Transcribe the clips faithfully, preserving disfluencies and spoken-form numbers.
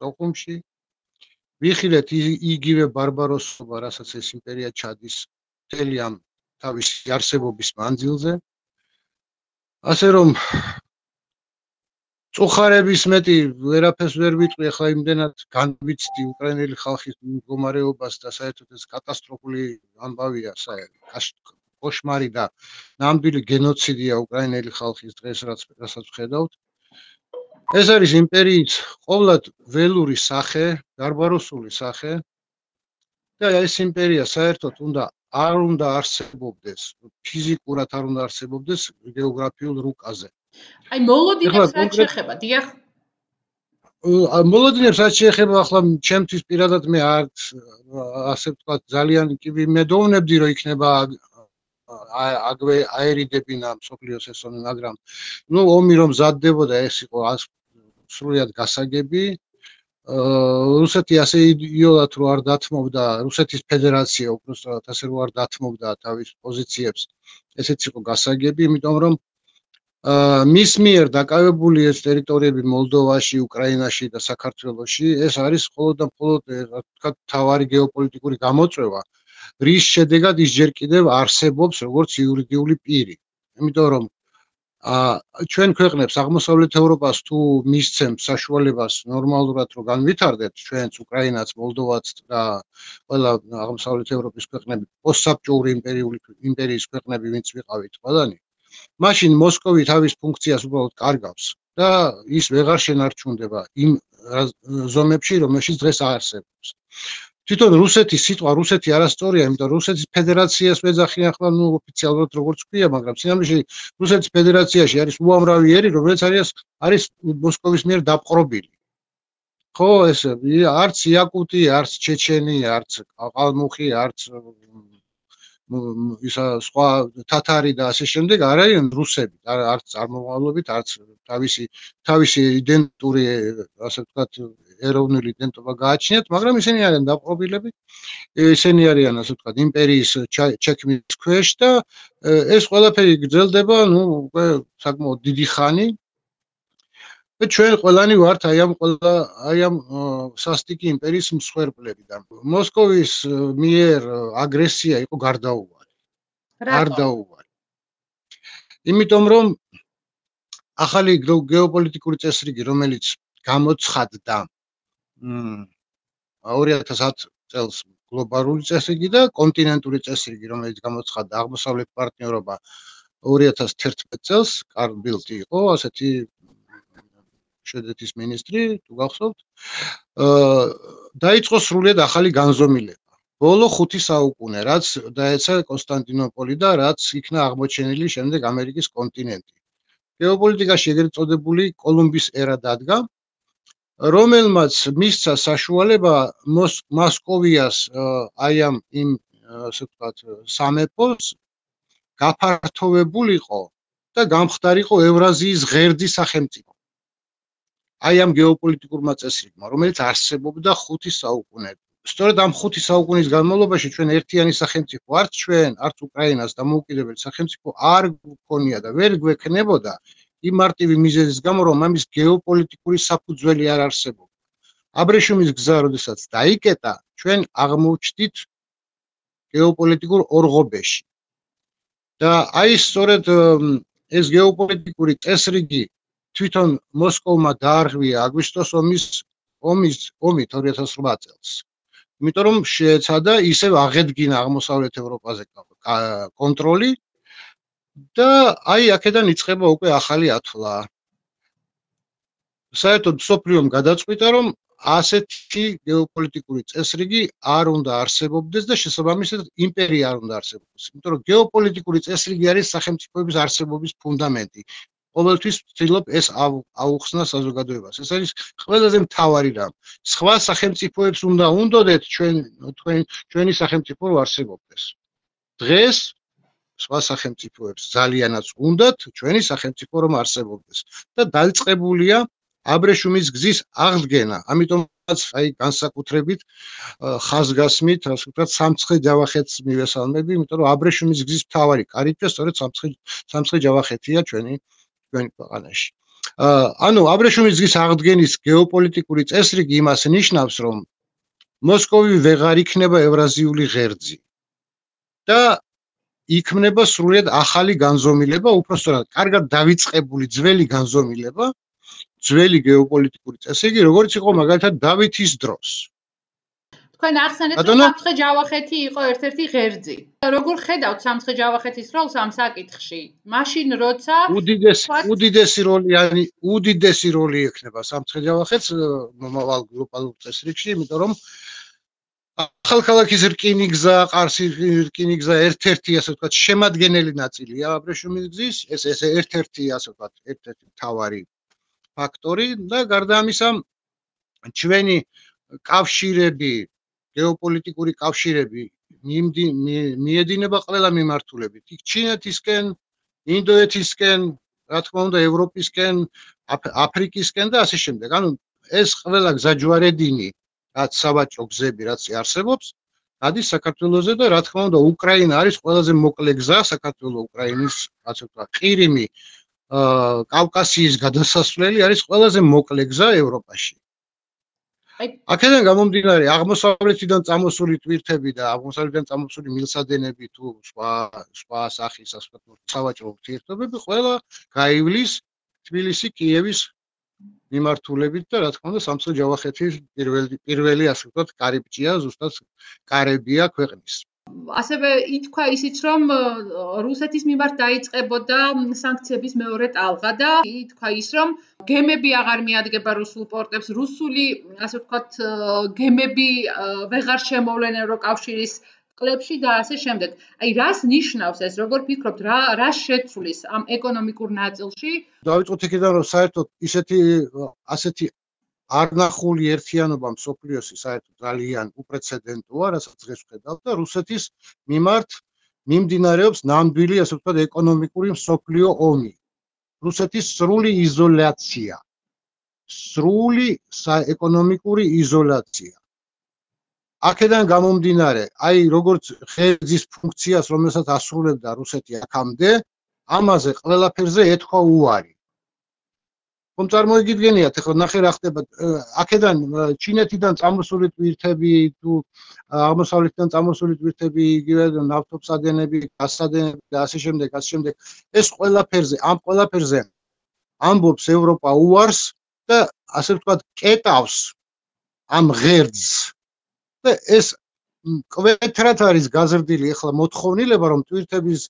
დოქუმში. ვიხილეთ იგივე ბარბაროსობა, რასაც ეს იმპერია ჩადის მთელი ამ თავისი არსებობის მანძილზე. ასე რომ წუხარების მეტი ვერაფერს ვერ ვიტყვი, ახლა იმდენად განვიცდი უკრაინელი ხალხის მდგომარეობას და საერთოდ ეს კატასტროფული ამბავია, კოშმარი და ნამდვილი გენოციდია უკრაინელი ხალხის დღეს, რასაც ვხედავთ. ეს არის იმპერიის ყოვლად ველური სახე, ბარბაროსული სახე და ეს იმპერია საერთოდ უნდა არ უნდა არსებობდეს, ფიზიკურად არ უნდა არსებობდეს გეოგრაფიულ რუკაზე. აი მოლოდინებს რაც შეეხება, დიახ. მოლოდინებს რაც შეეხება, ახლა ჩემთვის პირადად მე არ ასე ვთქვათ, ძალიან კი ვიმედოვნებდი, რომ იქნება აგვე აერიდებინა მსოფლიოს ეს ომი, მაგრამ ნუ ომი რომ მზადდებოდა, ეს იყო სრულიად გასაგები. რუსეთი ასე იდეოლად რო არ დათმობდა, რუსეთის ფედერაცია უბრალოდ ასე რო არ დათმობდა თავის პოზიციებს, ესეც იყო გასაგები, იმიტომ რომ მის მიერ დაკავებული ეს ტერიტორიები მოლდოვაში, უკრაინაში და საქართველოში, ეს არის მხოლოდ და მხოლოდ რა ვთქვათ, მთავარი გეოპოლიტიკური გამოწვევა, რის შედეგად ის ჯერ კიდევ არსებობს როგორც იურიდიული პირი. იმიტომ რომ ჩვენ ქვეყნებს აღმოსავლეთ ევროპას თუ მისცემს საშუალებას ნორმალურად რო განვითარდეთ, ჩვენც უკრაინაც, მოლდოვაც და ყველა აღმოსავლეთ ევროპის ქვეყნები, პოსტსაბჭოური იმპერიული იმპერიის ქვეყნები, ვინც ვიყავით ყველანი, მაშინ მოსკოვი თავის ფუნქციას უბრალოდ კარგავს და ის ვეღარ შენარჩუნდება იმ ზომებში, რომელშიც დღეს არსებობს. თვითონ რუსეთის სიტყვა რუსეთი არასწორია, იმიტომ რომ რუსეთის ფედერაციას ვეძახიან ახლა ნუ ოფიციალურად როგორც ქვია, მაგრამ სინამდვილეში რუსეთის ფედერაციაში არის უამრავი ერი, რომელიც არის არის მოსკოვის მიერ დაპყრობილი. ხო, ეს არც იაკუტი, არც ჩეჩენი, არც ყალმუხი, არც ისა სხვა თათარი და ასე შემდეგ არ არიან რუსები, არც წარმომავლობით, არც თავისი თავისი იდენტური, ასე ვთქვათ, ეროვნული იდენტობა გააჩნიათ, მაგრამ ისინი არიან დაპყრობილები, ისინი არიან, ასე ვთქვათ, იმპერიის ჩექმის ქვეშ და ეს ყველაფერი გრძელდება, ნუ უკვე საკმაოდ დიდი ხანი. და ჩვენ ყველანი ვართ აი ამ ყველა აი ამ სასტიკი იმპერიის მსხვერპლები და მოსკოვის მიერ აგრესია იყო გარდაუვალი. გარდაუვალი. იმიტომ რომ ახალი გეოპოლიტიკური წესრიგი, რომელიც გამოცხადდა ორი ათას ათ წელს გლობალური წესრიგი და კონტინენტური წესრიგი, რომელიც გამოცხადდა აღმოსავლეთ პარტნიორობა ორი ათას თერთმეტ წელს, კარლ ბილტი იყო ასეთი შვედეთის მინისტრი, თუ გახსოვთ, დაიწყო სრულიად ახალი განზომილება. ბოლო ხუთი საუკუნე, რაც დაეცა კონსტანტინოპოლი და რაც იქნა აღმოჩენილი შემდეგ ამერიკის კონტინენტი. გეოპოლიტიკაში ეგრეთ წოდებული კოლუმბის ერა დადგა, რომელმაც მისცა საშუალება მოსკოვიას აი ამ იმ ასე ვთქვათ სამეფოს გაფართოვებულიყო და გამხდარიყო ევრაზიის ღერძი სახელმწიფო. აი ამ გეოპოლიტიკურმა წესრიგმა, რომელიც არსებობდა ხუთი საუკუნე. სწორედ ამ ხუთი საუკუნის განმავლობაში ჩვენ ერთიანი სახელმწიფო, არც ჩვენ, არც უკრაინას დამოუკიდებელი სახელმწიფო არ გქონია და ვერ გვექნებოდა იმ მარტივი მიზეზის გამო, რომ ამის გეოპოლიტიკური საფუძველი არ არსებობდა. აბრეშუმის გზა, როდესაც დაიკეტა, ჩვენ აღმოჩნდით გეოპოლიტიკურ ორღობეში. და აი სწორედ ეს გეოპოლიტიკური წესრიგი თვითონ მოსკოვმა დაარღვია აგვისტოს ომის ომის ომით ორი ათას რვა წელს. იმიტომ რომ შეეცადა ისევ აღედგინა აღმოსავლეთ ევროპაზე კონტროლი და აი აქედან იწყება უკვე ახალი ათვლა. საერთოდ მსოფლიომ გადაწყვიტა, რომ ასეთი გეოპოლიტიკური წესრიგი არ უნდა არსებობდეს და შესაბამისად იმპერია არ უნდა არსებობდეს. იმიტომ რომ გეოპოლიტიკური წესრიგი არის სახელმწიფოების არსებობის ფუნდამენტი. ყოველთვის ვცდილობ ეს აუხსნა საზოგადოებას. ეს არის ყველაზე მთავარი რამ. სხვა სახელმწიფოებს უნდა უნდოდეთ ჩვენ ჩვენი სახელმწიფო რო არსებობდეს. დღეს სხვა სახელმწიფოებს ძალიანაც უნდათ ჩვენი სახელმწიფო რომ არსებობდეს და დაიწყებულია აბრეშუმის გზის აღდგენა. ამიტომაც აი განსაკუთრებით ხაზგასმით, ასე ვთქვათ, სამცხე ჯავახეთს მივესალმები, იმიტომ რომ აბრეშუმის გზის მთავარი კარიბჭე სწორედ სამცხე სამცხე ჯავახეთია ჩვენი ჩვენი ქვეყანაში. ანუ აბრეშუმის ძღის აღდგენის გეოპოლიტიკური წესრიგი იმას ნიშნავს, რომ მოსკოვი ვეღარ იქნება ევრაზიული ღერძი და იქმნება სრულიად ახალი განზომილება, უпростоრად, კარგად დავიწყებული ძველი განზომილება, ძველი გეოპოლიტიკური წესრიგი, როგორც იყო მაგალითად დავითის დროს. თქვენ ახსენეთ, რომ სამცხე ჯავახეთი იყო ერთ-ერთი ღერძი. როგორ ხედავთ სამცხე ჯავახეთის როლს ამ საკითხში? მაშინ როცა უდიდესი უდიდესი როლი არის, უდიდესი როლი ექნება სამცხე ჯავახეთს მომავალ გლობალურ წესრიგში, იმიტომ რომ ახალქალაქის რკინიგზა, ყარსის რკინიგზა ერთ-ერთი, ასე ვთქვათ, შემადგენელი ნაწილია აბრეშუმის გზის, ეს ეს ერთ-ერთი, ასე ვთქვათ, ერთ-ერთი მთავარი ფაქტორი და გარდა ამისა, ჩვენი კავშირები, გეოპოლიტიკური კავშირები მიედინება ყველა მიმართულებით. იქ ჩინეთისკენ, ინდოეთისკენ, რა თქმა უნდა, ევროპისკენ, აფრიკისკენ და ასე შემდეგ. ანუ ეს ყველა გზაჯვარედინი რაც საბაჭო გზები რაც არსებობს, გადის საქართველოზე და რა თქმა უნდა, უკრაინა არის ყველაზე მოკლე გზა საქართველოს უკრაინის, ასე ვთქვათ, ყირიმი, კავკასიის გადასასვლელი არის ყველაზე მოკლე გზა ევროპაში. აქედან გამომდინარე, აღმოსავლეთიდან წამოსული ტვირთები და აღმოსავლეთიდან წამოსული მილსადენები თუ სხვა სხვა სახის, ასე ვთქვათ, სავაჭრო ურთიერთობები ყველა გაივლის თბილისი, კიევის მიმართულებით და რა თქმა უნდა სამცხე ჯავახეთის პირველი პირველი ასე ვთქვათ კარიბჭეა, ზუსტად კარებია ქვეყნის. ასევე ითქვა ისიც, რომ რუსეთის მიმართ დაიწყებოდა სანქციების მეორე ტალღა და ითქვა ის, რომ გემები აღარ მიადგება რუსულ პორტებს, რუსული, ასე ვთქვათ, გემები ვეღარ შემოვლენ ევროკავშირის კლებში და ასე შემდეგ. აი, რას ნიშნავს ეს? როგორ ფიქრობთ, რა რა შეცვლის ამ ეკონომიკურ ნაწილში? დავიწყოთ იქიდან, რომ საერთოდ ისეთი ასეთი არნახული ერთიანობა მსოფლიოსი საერთოდ ძალიან უპრეცედენტოა, რასაც დღეს ვხედავთ და რუსეთის მიმართ მიმდინარეობს ნამდვილი, ასე ვთქვათ, ეკონომიკური მსოფლიო ომი. რუსეთის სრული იზოლაცია. სრული ეკონომიკური იზოლაცია. აქედან გამომდინარე, აი როგორც ღერძის ფუნქციას, რომელსაც ასრულებდა რუსეთი აქამდე, ამაზე ყველაფერზე ეთქვა უარი. ხომ წარმოიგიდგენიათ, ახლა ნახე რა ხდება, აქედან ჩინეთიდან წამოსული ტვირთები თუ აღმოსავლეთიდან წამოსული ტვირთები, იგივე ნავთობსადენები, გაზსადენები და ასე შემდეგ, ასე შემდეგ. ეს ყველაფერზე, ამ ყველაფერზე ამბობს ევროპა უარს და ასე ვთქვათ, კეტავს ამ ღერძს. და ეს კვეთრად არის გაზრდილი ახლა მოთხოვნილება, რომ ტვირთების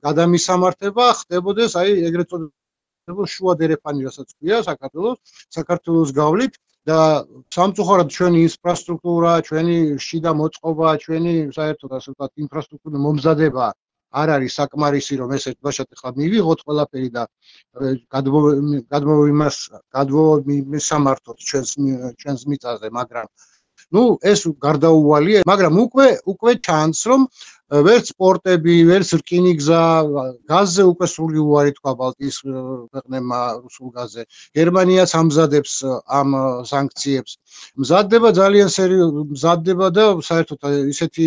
გადამისამართება ხდებოდეს, აი ეგრეთ წოდებული შუა დერეფანი, რასაც ქვია საქართველოს, საქართველოს გავლით და სამწუხაროდ ჩვენი ინფრასტრუქტურა, ჩვენი შიდა მოწყობა, ჩვენი საერთოდ ასე ვთქვათ, ინფრასტრუქტურის მომზადება არ არის საკმარისი, რომ ეს ერთბაშად ახლა მივიღოთ ყველაფერი და გადმოვიმას გადმოვიმისამართოთ ჩვენს ჩვენს მიწაზე, მაგრამ ნუ ეს გარდაუვალია, მაგრამ უკვე უკვე ჩანს, რომ ვერც პორტები, ვერც რკინიგზა, გაზზე უკვე სრული უარი თქვა ბალტიის ქვეყნებმა რუსულ გაზზე. გერმანიაც ამზადებს ამ სანქციებს. მზადდება ძალიან სერიოზული, მზადდება და საერთოდ ისეთი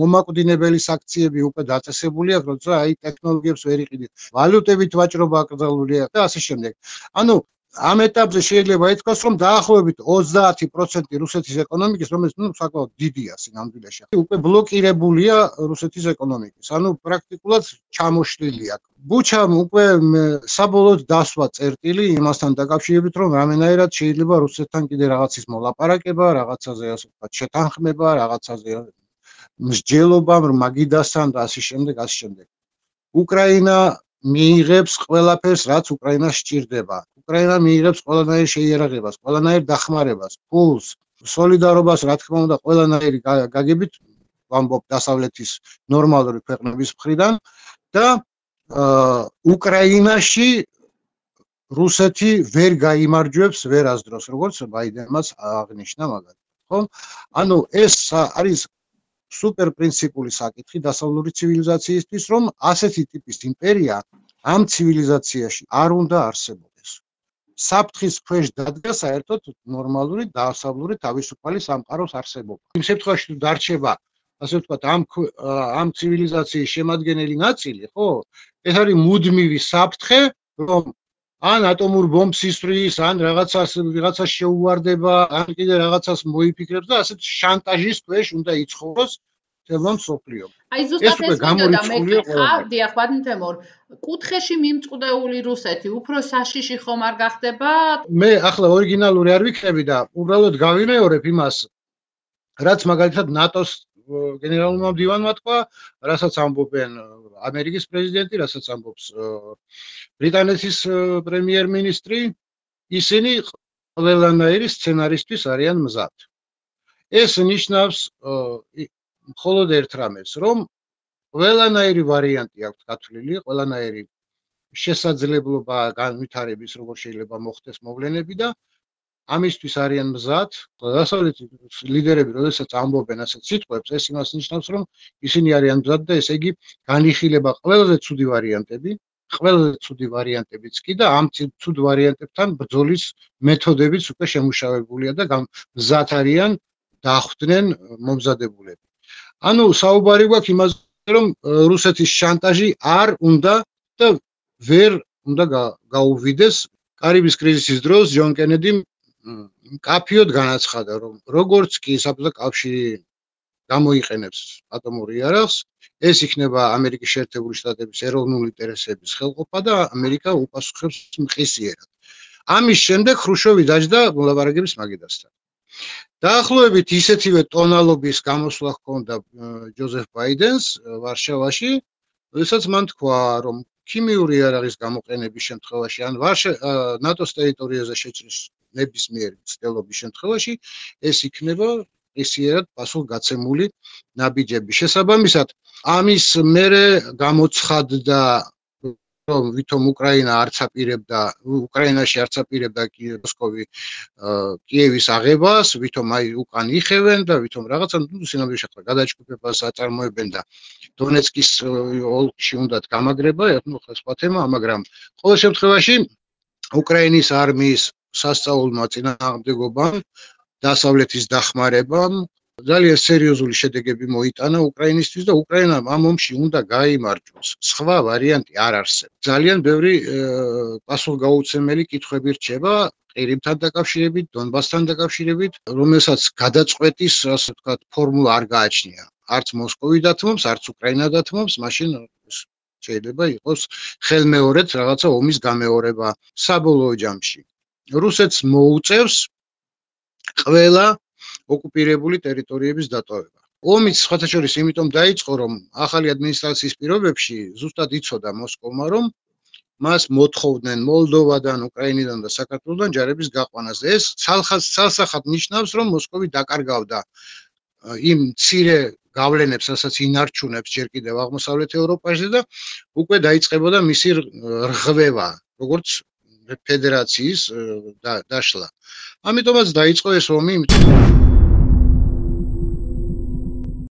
მომაკვდინებელი სანქციები უკვე დაწესებული აქვს, როცა აი ტექნოლოგიებს ვერ იყიდით. ვალუტებით ვაჭრობა აკრძალულია და ასე შემდეგ. ანუ ამ ეტაპზე შეიძლება ითქვას, რომ დაახლოებით ოცდაათი პროცენტი რუსეთის ეკონომიკის, რომელიც ნუ საკმაოდ დიდია სინამდვილეში, უკვე ბლოკირებულია რუსეთის ეკონომიკის. ანუ პრაქტიკულად ჩამოშლილი აქვს. ბუჩამ უკვე საბოლოოდ დასვა წერტილი იმასთან დაკავშირებით, რომ რამენაირად შეიძლება რუსეთთან კიდე რაღაცის მოლაპარაკება, რაღაცაზე ასე ვთქვათ, შეთანხმება, რაღაცაზე მსჯელობა მაგიდასთან და ასე შემდეგ, ასე შემდეგ. უკრაინა მიიღებს ყველაფერს, რაც უკრაინას სჭირდება. უკრაინა მიიღებს ყველანაირ შეიარაღებას, ყველანაირ დახმარებას, ფულს, სოლიდარობას, რა თქმა უნდა, ყველანაირი გაგებით, ვამბობ დასავლეთის ნორმალური ქვეყნების მხრიდან და უკრაინაში რუსეთი ვერ გაიმარჯვებს ვერასდროს, როგორც ბაიდენმაც აღნიშნა მაგალითად, ხო? ანუ ეს არის სუპერ პრინციპული საკითხი დასავლური ცივილიზაციისთვის, რომ ასეთი ტიპის იმპერია ამ ცივილიზაციაში არ უნდა არსებობდეს. საფრთხის ქვეშ დადგა საერთოდ ნორმალური დასავლური თავისუფალი სამყაროს არსებობა. იმ შემთხვევაში თუ დარჩება, ასე ვთქვათ, ამ ამ ცივილიზაციის შემადგენელი ნაწილი, ხო? ეს არის მუდმივი საფრთხე რომ ან ატომურ ბომბს ისვრის, ან რაღაცას ვიღაცას შეუვარდება, ან კიდე რაღაცას მოიფიქრებს და ასეთ შანტაჟის ქვეშ უნდა იცხოვროს თელმა მსოფლიომ. აი ზუსტად ეს მინდოდა მე ხავდი ახლა თემურ კუთხეში მიმწყდეული რუსეთი უფრო საშიში ხომ არ გახდება? მე ახლა ორიგინალური არ ვიქნები და უბრალოდ გავიმეორებ იმას, რაც მაგალითად ნატოს გენერალურმა მდივანმა თქვა, რასაც ამბობენ ამერიკის პრეზიდენტი, რასაც ამბობს ბრიტანეთის პრემიერ-მინისტრი, ისინი ყველანაირი სცენარისთვის არიან მზად. ეს ნიშნავს მხოლოდ ერთ რამეს, რომ ყველანაირი ვარიანტი აქვს გათვლილი, ყველანაირი შესაძლებლობა განვითარების, როგორ შეიძლება მოხდეს მოვლენები და ამისთვის არიან მზად. დასავლეთის ლიდერები, როდესაც ამბობენ ასეთ სიტყვებს, ეს იმას ნიშნავს, რომ ისინი არიან მზად და ესე იგი განიხილება ყველაზე ცუდი ვარიანტები, ყველაზე ცუდი ვარიანტებიც კი და ამ ცუდ ვარიანტებთან ბრძოლის მეთოდებიც უკვე შემუშავებულია და მზად არიან დახვდნენ მომზადებულები. ანუ საუბარი გვაქვს იმაზე, რომ რუსეთის შანტაჟი არ უნდა და ვერ უნდა გაუვიდეს. კარიბის კრიზისის დროს ჯონ კენედიმ კაფიოდ განაცხადა, რომ როგორც კი საბჭოთა კავშირი გამოიყენებს ატომურ იარაღს, ეს იქნება ამერიკის შეერთებული შტატების ეროვნული ინტერესების ხელყოფა და ამერიკა უპასუხებს მყისიერად. ამის შემდეგ ხრუშოვი დაჯდა მოლაპარაკების მაგიდასთან. დაახლოებით ისეთივე ტონალობის გამოსვლა ჰქონდა ჯოზეფ ბაიდენს ვარშავაში, როდესაც მან თქვა, რომ ქიმიური იარაღის გამოყენების შემთხვევაში ან ნატოს ტერიტორიაზე შეჭრის ნებისმიერი მცდელობის შემთხვევაში ეს იქნება ისიერად პასუხგაცემული ნაბიჯები. შესაბამისად, ამის მერე გამოცხადდა, რომ ვითომ უკრაინა არც აპირებდა, უკრაინაში არც აპირებდა მოსკოვი კიევის აღებას, ვითომ აი უკან იხევენ და ვითომ რაღაცა სინამდვილეში ახლა გადაჯგუფებას აწარმოებენ და დონეცკის ოლქში უნდათ გამაგრება, ну, ხო სხვა თემა, მაგრამ ყოველ შემთხვევაში უკრაინის არმიის სასწაულმა წინააღმდეგობამ, დასავლეთის დახმარებამ ძალიან სერიოზული შედეგები მოიტანა უკრაინისთვის და უკრაინამ ამ ომში უნდა გაიმარჯვოს. სხვა ვარიანტი არ არსებობს. ძალიან ბევრი პასუხგაუცემელი კითხვები რჩება ყირიმთან დაკავშირებით, დონბასთან დაკავშირებით, რომელსაც გადაწყვეტის, ასე ვთქვათ, ფორმულა არ გააჩნია. არც მოსკოვი დათმობს, არც უკრაინა დათმობს, მაშინ შეიძლება იყოს ხელმეორედ რაღაცა ომის გამეორება საბოლოო ჯამში. რუსეთს მოუწევს ყველა ოკუპირებული ტერიტორიების დატოვება. ომიც სხვათა შორის იმიტომ დაიწყო, რომ ახალი ადმინისტრაციის პირობებში ზუსტად იცოდა მოსკოვმა, რომ მას მოთხოვდნენ მოლდოვადან, უკრაინიდან და საქართველოსდან ჯარების გაყვანას. ეს ცალსახად ნიშნავს, რომ მოსკოვი დაკარგავდა იმ მცირე გავლენებს, რასაც ინარჩუნებს ჯერ კიდევ აღმოსავლეთ ევროპაში და უკვე დაიწყებოდა მისი რღვევა, როგორც ფედერაციის დაშლა. ამიტომაც დაიწყო ეს ომი.